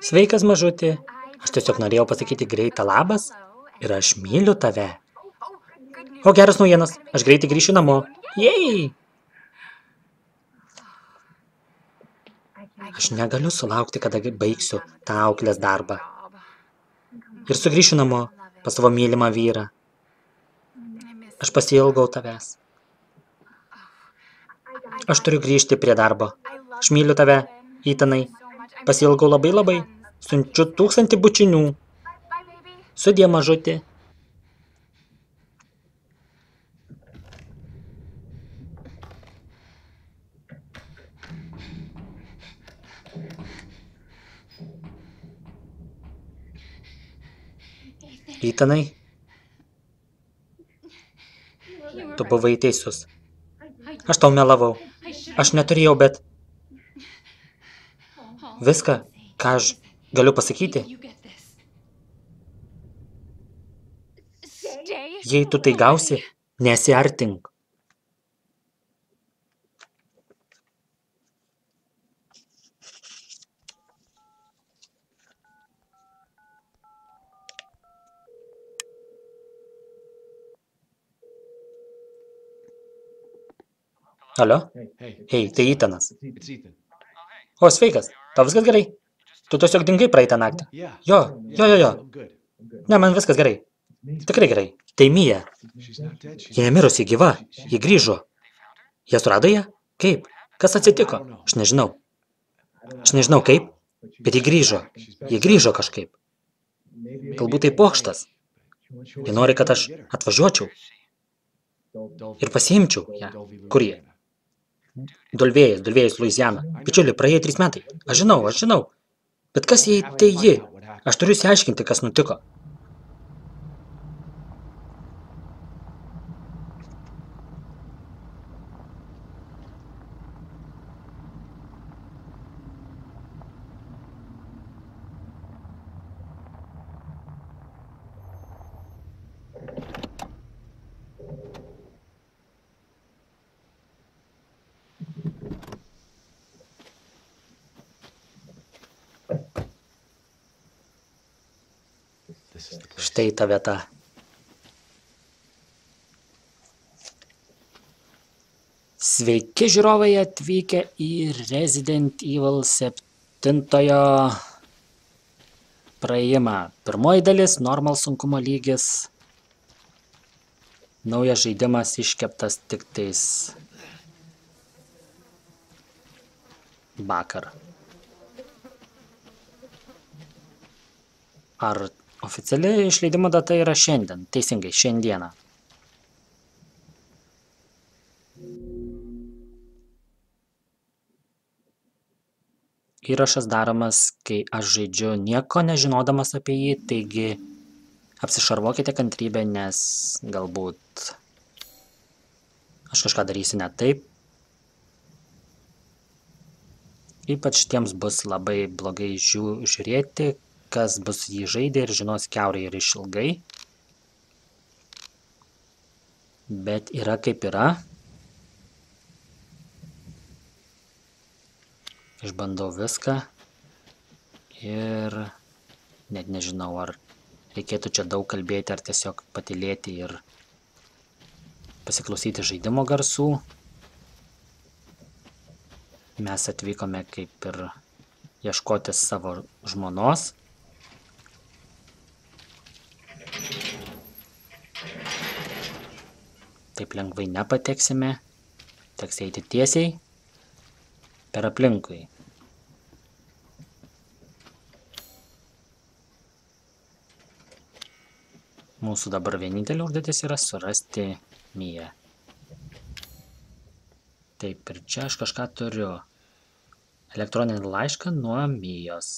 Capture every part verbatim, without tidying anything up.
Sveikas, mažutė. Aš tiesiog norėjau pasakyti greitą labas ir aš myliu tave. O geras naujienas, aš greitai grįšiu namo. Jei! Aš negaliu sulaukti, kada baigsiu tą auklės darbą. Ir sugrįšiu namo pas savo mylimą vyrą. Aš pasiilgau tavęs. Aš turiu grįžti prie darbo. Aš myliu tave, Ethanai. Pasiilgau labai labai. Siunčiu tūkstantį bučinių. Sudie, mažutė. Ethanai, tu buvai teisus. Aš tau melavau. Aš neturėjau, bet viską, ką aš galiu pasakyti, jei tu tai gausi, nesiartink. Alio? Hei, tai Ethanas. O, sveikas. Tau viskas gerai? Tu tiesiog dingai praeitą naktį. Jo, jo, jo, jo. Ne, man viskas gerai. Tikrai gerai. Tai Mija. Ji nemirusi, gyva. Ji grįžo. Jie surado ją? Kaip? Kas atsitiko? Aš nežinau. Aš nežinau kaip, bet ji grįžo. Ji grįžo kažkaip. Galbūt tai pokštas. Jie nori, kad aš atvažiuočiau ir pasiimčiau ją. Kur jie? Dolvėjas, Dolvėjas, Luiziana. Bičiuli, praėjo trys metai. Aš žinau, aš žinau. Bet kas jei tai ji? Aš turiu išsiaiškinti, kas nutiko. Štai ta vieta. Sveiki žiūrovai atvykę į Resident Evil septintojo praėjimą. Pirmoji dalis, normal sunkumo lygis. Naujas žaidimas iškeptas tik tais vakar. Ar oficiali išleidimo data yra šiandien? Teisingai, šiandieną. Įrašas daromas, kai aš žaidžiu nieko nežinodamas apie jį, taigi apsišarvuokite kantrybę, nes galbūt aš kažką darysiu ne taip. Ypač tiems bus labai blogai žiū, žiūrėti, kas bus jį žaidė ir žinos kiaurai ir išilgai. Bet yra kaip yra. Išbandau viską ir net nežinau, ar reikėtų čia daug kalbėti, ar tiesiog patylėti ir pasiklausyti žaidimo garsų. Mes atvykome kaip ir ieškoti savo žmonos. Taip lengvai nepateksime, teks eiti tiesiai per aplinkui. Mūsų dabar vienintelė užduotis yra surasti Miją. Taip, ir čia aš kažką turiu. Elektroninį laišką nuo Mijos.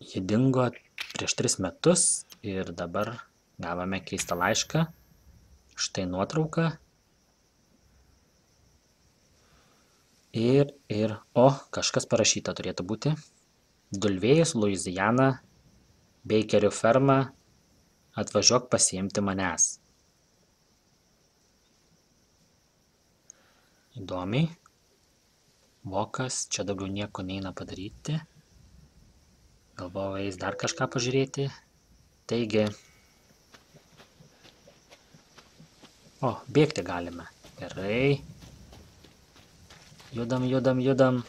Ji dingo prieš tris metus ir dabar gavome keistą laišką. Štai nuotrauka. Ir, ir, o, kažkas parašyta turėtų būti. Dolvėjus, Luiziana, Beikerių ferma, atvažiuok pasiimti manęs. Įdomiai. Vokas, čia daugiau nieko neina padaryti. Galvojau, eis dar kažką pažiūrėti. Taigi. O, bėgti galime. Gerai. Judam, judam, judam.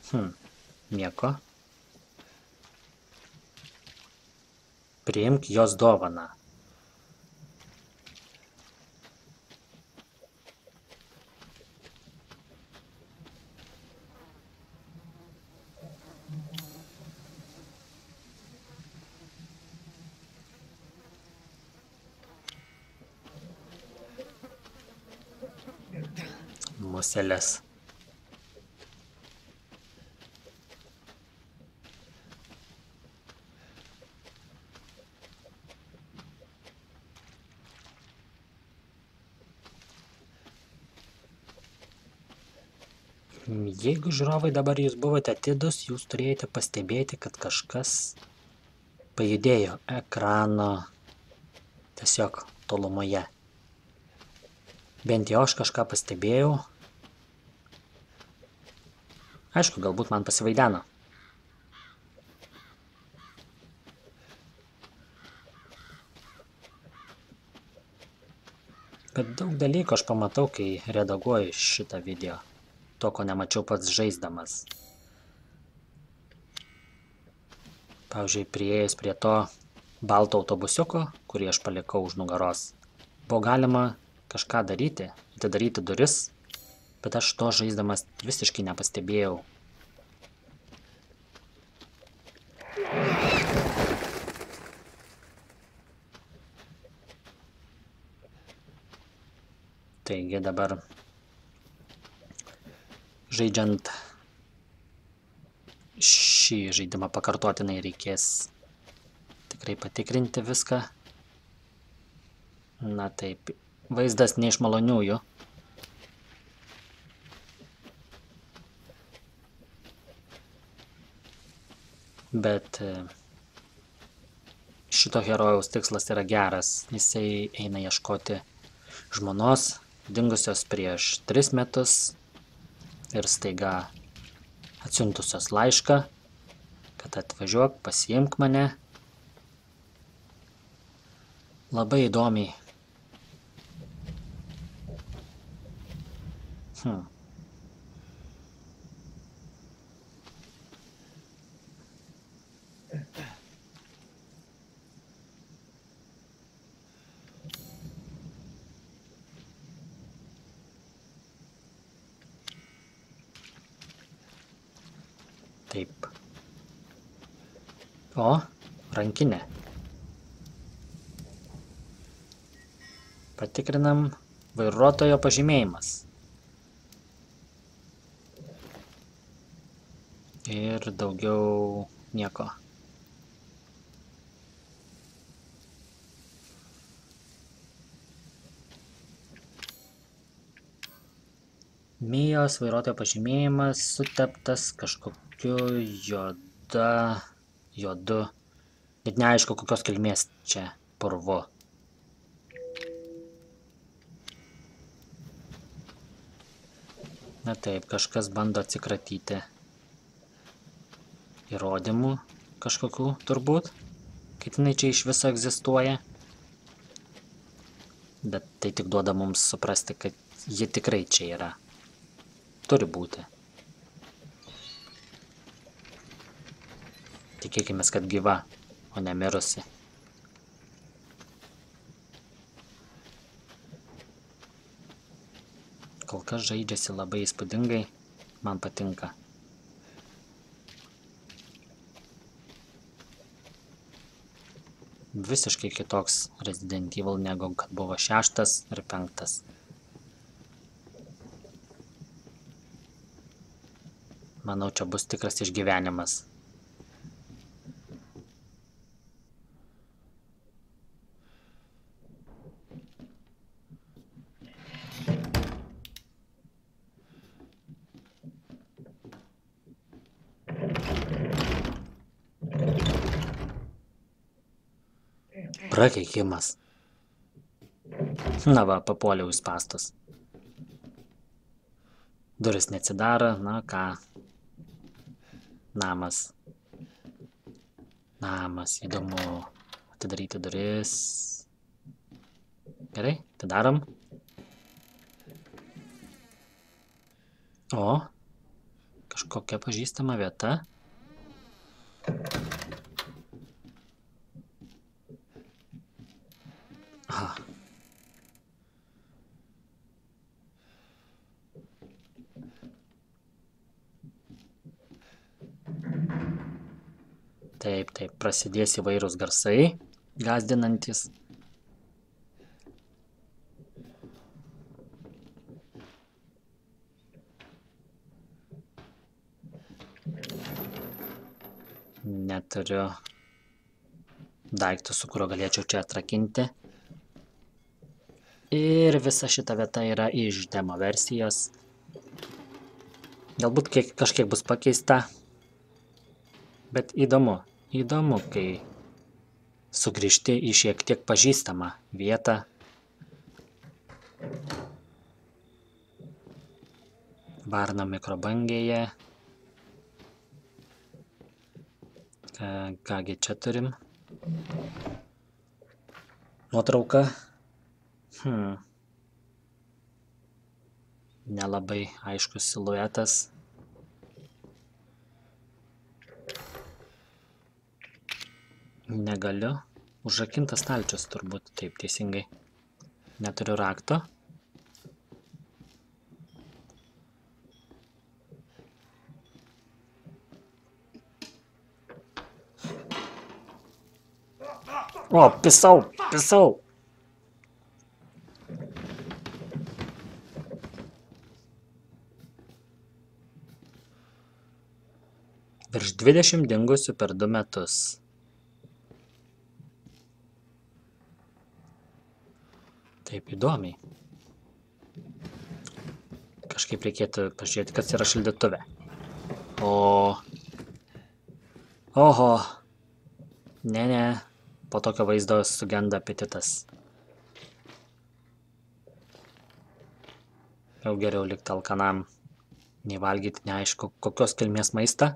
Hm, nieko. Priimk jos dovaną. Muselės. Jeigu žiūrovai dabar jūs buvote atidus, jūs turėjote pastebėti, kad kažkas pajudėjo ekrano tiesiog tolumoje. Bent jau aš kažką pastebėjau. Aišku, galbūt man pasivaideno. Bet daug dalykų aš pamatau, kai redaguoju šitą video. To, ko nemačiau pats žaisdamas. Pavyzdžiui, priėjus prie to balto autobusiuko, kurį aš palikau už nugaros, buvo galima kažką daryti, atidaryti duris, bet aš to žaisdamas visiškai nepastebėjau. Taigi dabar žaidžiant šį žaidimą pakartotinai reikės tikrai patikrinti viską. Na taip, vaizdas ne iš maloniųjų. Bet šito herojaus tikslas yra geras. Jisai eina ieškoti žmonos, dingusios prieš tris metus ir staiga atsiuntusios laišką, kad atvažiuok, pasiimk mane. Labai įdomiai. Hmm. Taip. O, rankinė. Patikrinam vairuotojo pažymėjimas. Ir daugiau nieko. Mijos vairuotojo pažymėjimas suteptas kažkokiu juoda, juodu, net neaišku kokios kilmės čia purvu. Na taip, kažkas bando atsikratyti įrodymų kažkokių turbūt, kad jinai čia iš viso egzistuoja. Bet tai tik duoda mums suprasti, kad ji tikrai čia yra. Turi būti. Tikėkimės, kad gyva, o ne mirusi. Kol kas žaidžiasi labai įspūdingai, man patinka. Visiškai kitoks Resident Evil negu kad buvo šeštas ir penktas. Manau, čia bus tikras išgyvenimas. Prakeikimas. Na va, papuoliau į spąstus. Duris neatsidaro, na ką. Namas. Namas, įdomu. Atidaryti duris. Gerai, atidarom. O, kažkokia pažįstama vieta. Aha. Taip, taip, prasidės įvairūs garsai, gąsdinantis. Neturiu daiktų, su kuriuo galėčiau čia atrakinti. Ir visa šita vieta yra iš demo versijos. Galbūt kiek, kažkiek bus pakeista. Bet įdomu, įdomu, kai sugrįžti į šiek tiek pažįstamą vietą. Varna mikrobangėje. Kągi čia turim. Nuotrauka. Hmm. Nelabai aiškus siluetas. Negaliu. Užrakintas stalčius turbūt, taip teisingai. Neturiu rakto. O, pisau, pisau. Virš dvidešimt dingusių per du metus. Taip įdomiai. Kažkaip reikėtų pažiūrėti, kas yra šaldytuve. O. Oho. Ne, ne. Po tokio vaizdo sugenda apetitas. Jau geriau likti alkanam. Nei valgyti neaišku, kokios kilmės maistą.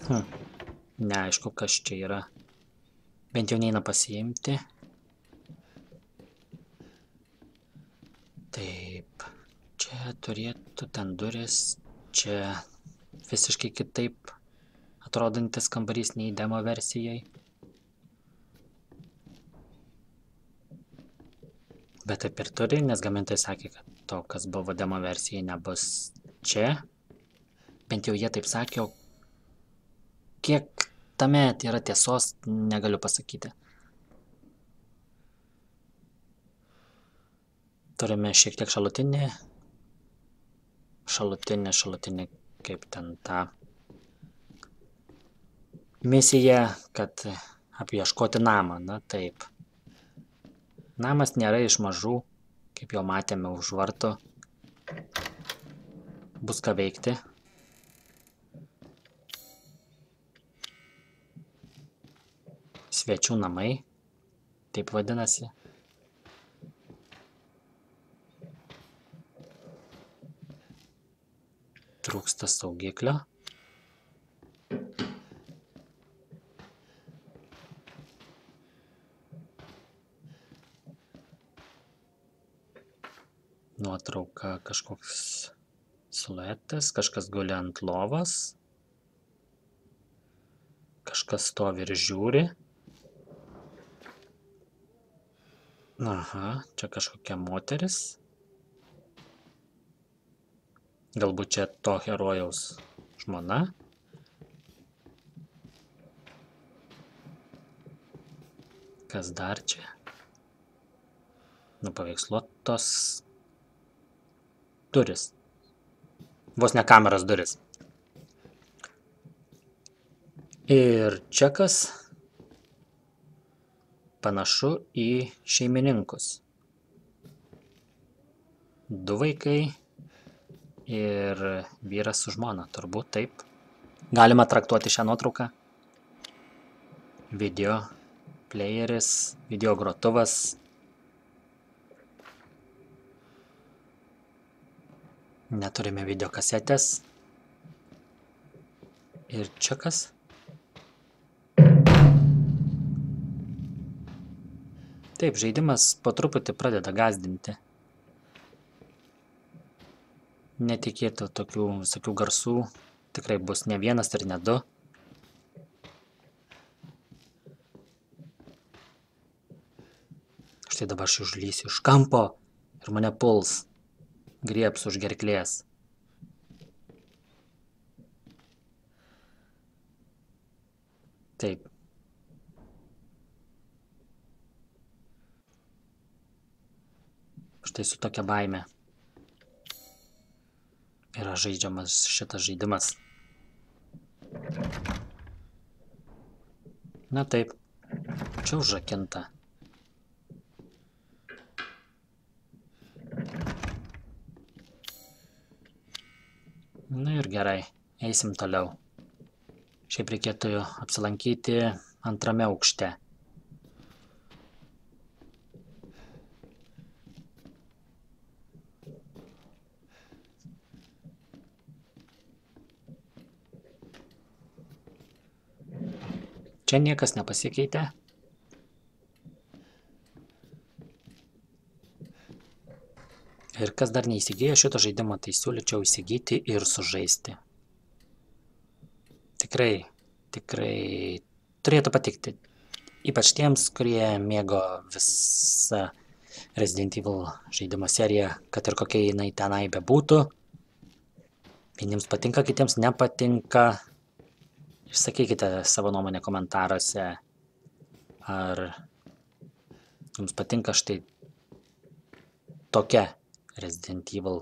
Hm. Neaišku, kas čia yra. Bent jau neina pasiimti. Taip. Čia turėtų ten duris. Čia visiškai kitaip atrodantis kambarys nei demo versijai. Bet taip ir turi, nes gamintojai sakė, kad to, kas buvo demo versijai, nebus čia. Bent jau jie taip sakė, o kiek tame yra tiesos, negaliu pasakyti. Turime šiek tiek šalutinį. Šalutinį, šalutinį, kaip ten tą misiją, kad apieškoti namą, na taip. Namas nėra iš mažų, kaip jau matėme už vartų. Bus ką veikti. Svečių namai, taip vadinasi. Trūksta saugiklio. Nuotrauka kažkoks siluetas, kažkas guli ant lovos. Kažkas stovi ir žiūri. Aha, čia kažkokia moteris. Galbūt čia to herojaus žmona. Kas dar čia? Nupaveiksluotos duris. Vos ne kameros duris. Ir čia kas panašu į šeimininkus. Du vaikai ir vyras su žmona, turbūt taip. Galima traktuoti šią nuotrauką. Video playeris, video grotuvas. Neturime video kasetės. Ir čia kas? Taip, žaidimas po truputį pradeda gąsdinti. Netikėtų tokių visokių garsų. Tikrai bus ne vienas ir ne du. Štai dabar aš užlysiu iš kampo ir mane puls. Griebs už gerklės. Taip. Štai su tokia baime yra žaidžiamas šitas žaidimas. Na taip, čia užrakinta. Na ir gerai, eisim toliau. Šiaip reikėtų apsilankyti antrame aukšte. Čia niekas nepasikeitė. Ir kas dar neįsigijo šito žaidimo, tai siūlyčiau įsigyti ir sužaisti. Tikrai, tikrai turėtų patikti. Ypač tiems, kurie mėgo visą Resident Evil žaidimo seriją, kad ir kokia jinai tenai bebūtų. Vieniems patinka, kitiems nepatinka. Išsakykite savo nuomonę komentaruose, ar jums patinka štai tokia Resident Evil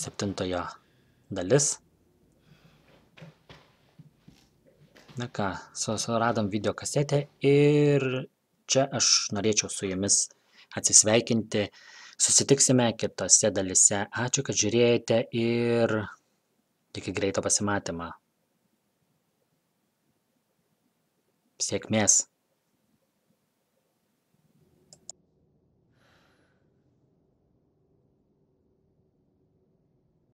septintojo dalis. Na ką, suradom video kasetę ir čia aš norėčiau su jumis atsisveikinti. Susitiksime kitose dalyse. Ačiū, kad žiūrėjote ir iki greito pasimatymo. Sėkmės.